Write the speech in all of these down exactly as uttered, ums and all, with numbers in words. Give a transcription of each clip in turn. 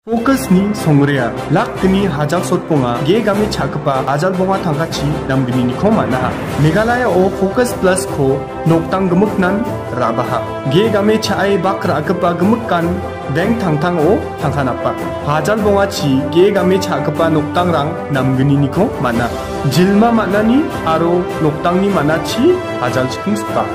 Focus-ni songrea, lak gni hajal sotbonga, ge game cha·gipa ajal bonga tangkachi namgniko man·aha. Meghalaya-o Focus Plus-ko noktang gimiknan ra·baha. Ge game cha·e bak ra·gipa gimikan bank tangtango tangka napa. Hajal bongachi ge game cha·gipa noktangrang namgniko man·a. Jilma man·ani aro noktangni man·achi hajal chikingsipa.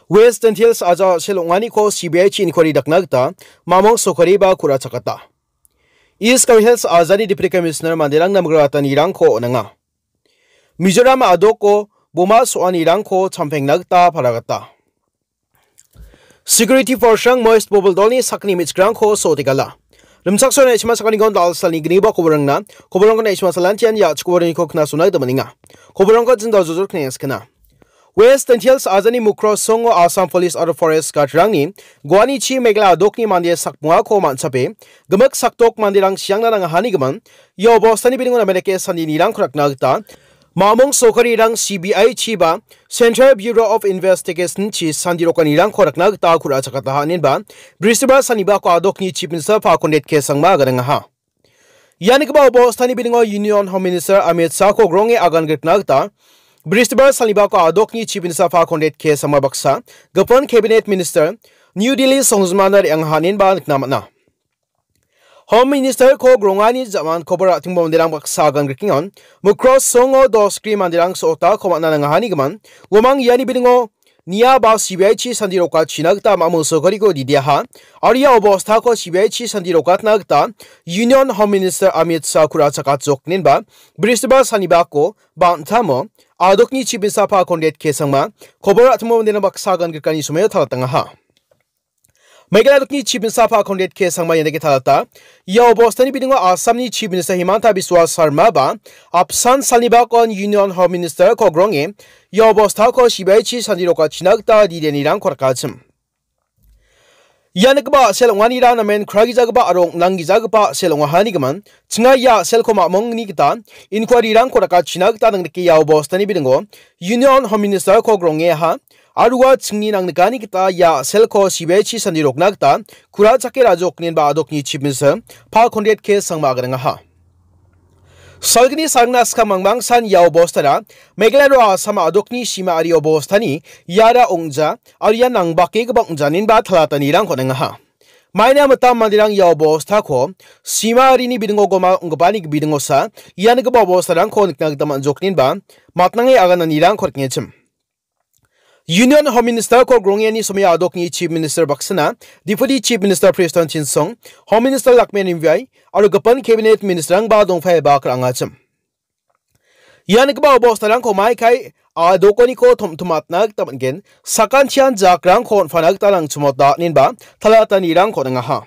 West Jaintia Hills ajal sel ong·aniko C B I-chi inquiry dakna gita Mamung sorkariba ku·rachakata. East Garo Hills ajani Deputy Commissioner manderang namgipatanirangko on·enga. Mizoram a·doko boma so·anirangko champengna gita palagata. Security force-rang Moist Bobil dolni sakni me·chikrangko so·otegala. Rimchaksoa na·simang sakaniko dal·salni gniba koborangna, koborangko na·simang salantian ia chikoborangko knasona gita man·enga. Koborangko jindal jojor knengskena. West Jaintia Hills ajani Mukroh songo Assam Police aro Forest Guard-rangni guanichi Meghalaya a·dokni mande sakbongako man·chape, gimik sakdok manderang siangna nangahanigimin, ia obostani bilingo namen dake sandinirangko rakna gita, Mamung sorkarirang C B I-chi ba Central Bureau of Investigation-chi sandirokanirangko rakna gita ku·rachakataha inenba, Bristibar sanibako a·dokni Chief Minister Conrad K Sangma aganengaha. Ia nikgipa obostani bilingo Union Home Minister Amit Shah-ko gronge agan grikna gita, Bristibar sanibako a·dokni Chief Minister Conrad K Sangma baksa, gipin Cabinet Minister New Delhi songjinmana re·angaha inenba nikna man·a. Home Minister-ko grongani ja·man kobor ra·tingba manderang baksa agan grikengon, Mukroh songo dos gri manderang so·otako man·a nangahanigimin, uamang iani bilingo nia ba C B I-chi sandirokachina gita Mamung sorkariko didiaha, aro ia obostako C B I-chi sandirokatna gita Union Home Minister Amit Shah ku·rachakatjok inenba, Bristibar sanibako ba an·tamo a·dokni Chief Minister Conrad K Sangma kobor ra·tingba manderang baksa agan grikani somoio talatangaha. Meghalaya a·dokni Chief Minister Conrad K Sangma ian dake talata. Ia obostani bilingo Assamni Chief Minister Himanta Biswa Sarma ba apsan salnibakon Union Home Minister-ko gronge ia obostako C B I-chi sandirokachina gita didianirangko rakachim. Ia nikgipa a·sel ong·anira namen kragijagipa aro ong·nanggijagipa a·sel ong·ahanigimin, chinga ia a·selko mamungni gita inquiry-rangko rakachina gita nangdike ia obostani bilingo Union Home Minister-ko grongeaha, aro ua chingni nangnikani gita ia a·selko C B I-chi sandirokna gita ku·rachake ra·jok inenba a·dokni Chief Minister Conrad K Sangma aganengaha. Salgni salgna skang mangmangsan ia obostara Meghalaya aro Assam a·dokni sima ari obostani iara ong·ja, aro ia nangbakegipa ong·ja inenba talatanirangko on·engaha. Maina mitam manderang ia obostako sima arini bidingo goma ong·gipani bidingosa ia nikgipa obostarangko nikna gita man·jok inenba matnange agananirangko rikengachim. Union Home Minister-ko grongeni somoio a·dokni Chief Minister baksana, Deputy Chief Minister Prestone Tynsong, Home Minister Lakmin Ryngviay, aro gipin Cabinet Minister-rangba dongpaiba kal·angachim. Ia nikgipa obostarangko maikai a·dokoniko tom·tomatna gita man·gen, sakantian jakrangko on·pana gita nangchimota inenba talatanirangko on·engaha.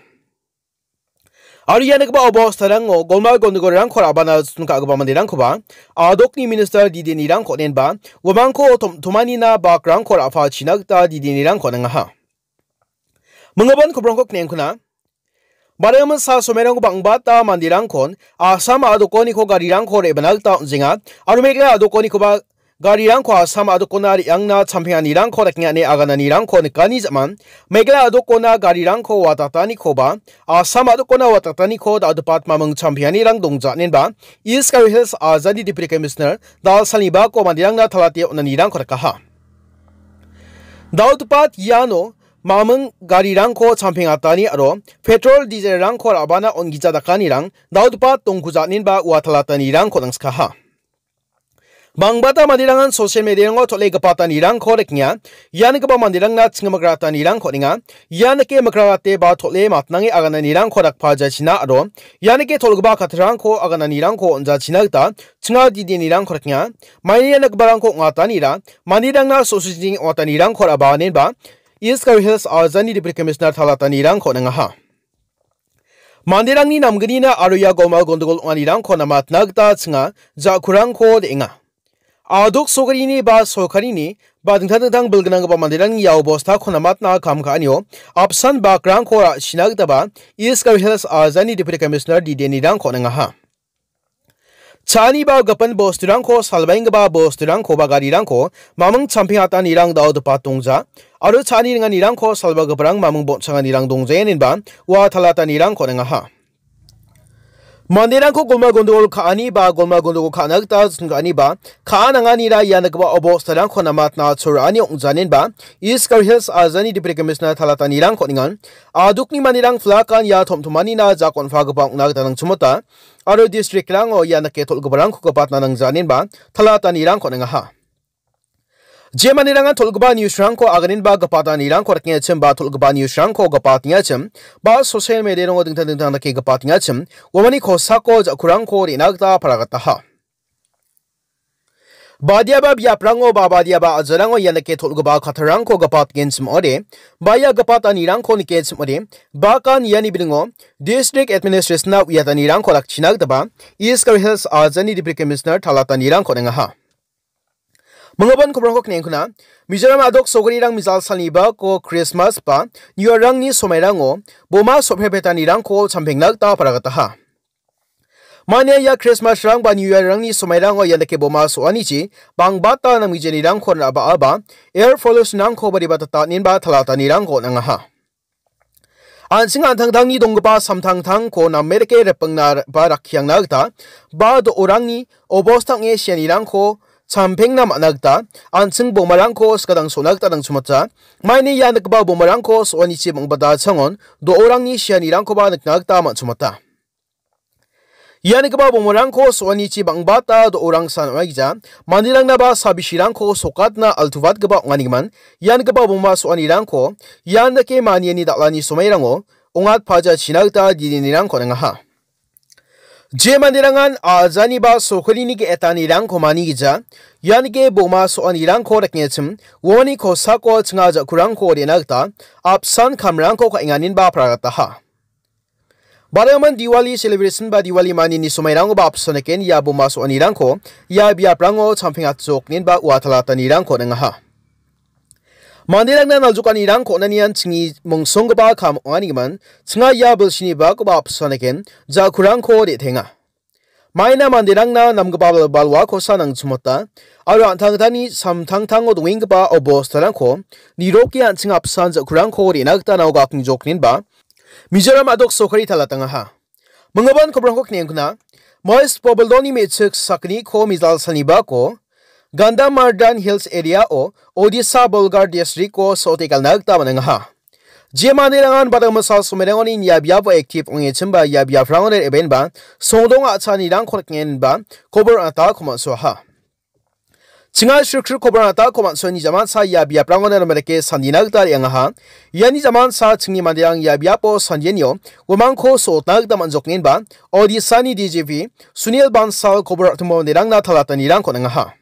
Aro ia nikgipa obostarango golmal gondogolrangko ra·bana jotton ka·gipa manderangkoba a·dokni minister didianirangko on·enba uamangko tom-, tomanina bakrangko ra·pachina gita didianirangko on·engaha. Minggipan kobrongko knengkuna. Bariaman sa somerangko bang·bata manderangkon Assam a·dokoniko garirangko re·bana gita on·jenga aro Meghalaya a·dokonikoba garirangko Assam a·dokona re·angna champenganirangko dakengane agananirangko nikani ja·man, Meghalaya a·dokona garirangko watatanikoba, Assam a·dokona watataniko da·odepat mamung champenganirang dongja inenba, East Garo Hills ajani Deputy Commissioner Dalsalnibako manderangna talate on·anirangko rikaha. Da·odepat iano mamung garirangko champengatani aro petrol dieselrangko ra·bana on·gija dakanirang da·odepat dongkuja inenba ua talatanirangko nangskaha. Bangbata manderangan social media-rango tole gipatanirangko rikenga. Ian gipa manderangna chingmik ratanirangko on·enga. Ian dake mikrarate ba tole matnange agananirangko dakpajachina aro ian dake tolgipa kattarangko agananirangko on·jachina gita chinga didianirangko rikenga. Maini ian giparangko ong·atanira manderangna so·sojing ong·atanirangko ra·baanenba East Garo Hills ajani Deputy Commissioner talatanirangko on·engaha. Manderangni namgnina aro ia golmal gondogol ong·anirangko namatna gita chinga ja·kurangko de·enga. A·dok sorkarini ba sorkarini ba dingtang dingtang bilgnanggipa manderangni ia obostako namatna kam ka·anio apsan bakrangko ra·sina gitaba East Garo Hills ajani Deputy Commissioner didianirangko on·engaha. Cha·ani ba gipin bosturangko, salbaenggipa bosturangko ba garirangko mamung champengatanirang da·odepat dongja. Aro cha·ani ringanirangko salbagiparang maming bon·changanirang dongjaenenba ua talatanirangko on·engaha. Manderangko golma gondogol ka·ani ba golma gondogol ka·na gita jotun ka·ani ba ka·a nanganira ia nikgipa obostarangko namatna chorani ong·janenba East Garo Hills ajani Deputy Commissioner talatanirangko on·engan. Adukni manderang flakan ia tom·tomanina jakon·pagipa ong·na gita nangchimota aro district-rango ia nike tol·giparangko gipatna nangjanenba talatanirangko on·engaha. Je manderangan tol·gipa news-rangko aganenba gipatanirangko rakengachim ba tol·gipa news-rangko gipatengachim ba social media-rango dingtang dingtang dake gipatengachim uamani kosako ja·kurangko re·na gita paragataha. Badiaba biaprango ba badiaba ajarango ia nike tol·gipa kattarangko gipatgenchim ong·ode, ba ia gipatanirangko nikgenchim ong·ode, bakan iani bilingo District Administration-na uiatanirangko rakchina gitaba East Garo Hills ajani Deputy Commissioner talatanirangko on·engaha. Minggipan kobrangko kniengkuna, Mizoram adok sogarirang mijal salni bako Christmas ba New Year-rangni somairango boma sophepetanirangko champengna gita paragataha. Mania ia Christmas-rang ba New Year-rangni somairango ia dake boma so·anichi bangbata namgijanirangko ra·baa ba air pollution-rangko ba ribatata nenba talatanirangko on·angaha. An·ching an·tangtangni donggipa samtangtangko name dake ripengna ba rakkiangna gita ba do·orangni obosta ong·e sianirangko champengna man·a gita an·ching bomarangko skadang so·na gita nangchimata. Maini ia nikgipa bomarangko so·anichi bang·bata changon do·orangni sianirangkoba nikna gita man·chimata. Ia nikgipa bomarangko so·anichi bang·bata do·orangsan ong·aigija, manderangnaba sabisirangko sokatna altubatgipa ong·anigimin, ia nikgipa boma so·anirangko ian dake maniani dal·ani somairango ongatpajachina gita didinirangko on·engaha. Je manderangan ajaniba sokolini ge·etanirangko manigija, ian ge boma so·anirangko rakengachim, uani kosako chinga ja·kurangko re·na gita apsan kamrangko ka·enganinba paragataha. Baraman Diwali celebration ba Diwali manini somairangoba apsan eken ia boma so·anirangko ia biaprango champeng atchok nenba ua talatanirangko on·engaha. Manderangna naljokanirangko on·anian chingni mongsonggipa kam ong·anigimin chinga ia bilsini bakoba apsan eken ja·kurangko re·tenga. Maina manderangna namgipa bal-, balwakosa nangchimota, aro an·tangtangni samtangtango dongenggipa obostarangko niroke an·ching apsan ja·kurangko re·na gita nao gakni jokninba Mizoram adok sokari talatangaha. Minggipan kobrangko kniengkuna, Mois Bobeldoni me·chik sakgniko mijal salni bako Gandhamardan Hills area-o Odisha Bolgarh district-o so·ote galna gita man·engaha. Je manderangan badang misal somerangoni ia biapo active ong·echimba ia biaprangoni re·baenba songdong a·chanirangko rikngenba kobor ata komatsoaha. Chinga srikri kobor ata komatsoani jamansa ia biaprangoni ramarike sandina gita re·angaha. Iani jamansa chingni manderang ia biapo sandianio uamangko so·otna gita man·jokngenba Odisha-ni D G P Sunil Bansal kobor a·timo manderangna talatanirangko on·engaha.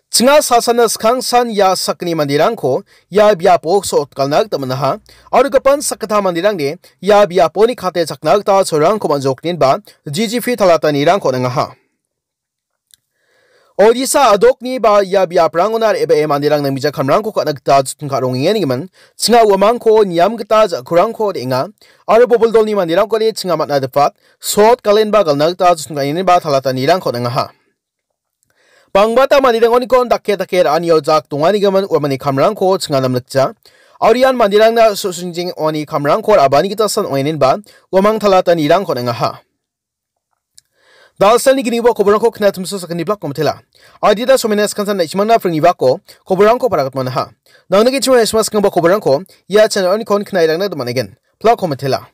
Chinga salsana skangsan ia sakgni manderangko ia biapo so·otgalna gita man·aha. Aro gipin sakgittam manderangde ia biaponi kate chakna gita sorangko man·jokninba G G P talatanirangko on·engaha. Odisha adokni ba ia biaprangona re·bee manderang nangmijakamrangko ka·na gita jotun ka·rongengenigimin, chinga uamangko niam gita ja·kurangko re·enga, aro boboldolni manderangkode chinga man·a dipat, so·otgalenba galna gita jotun ka·engenba talatanirangko on·engaha. Bangbata manderangoniko dake dake ra·anio jak donganigimin uamani kamrangko chinga namlikja. Aro ian manderangna su·singjeng ong·ani kamrangko ra·bani gitasan ong·enenba uamang talatanirangko on·engaha. Dalsalni gnibo koborangko knatimso sakgni blak komitela. Adita somena skansan naichimangna pringnibako koborangko paragatmanaha. Nangni gichimo esma skangba koborangko ia channel-onikon knairangna domanegen. Blak komitela.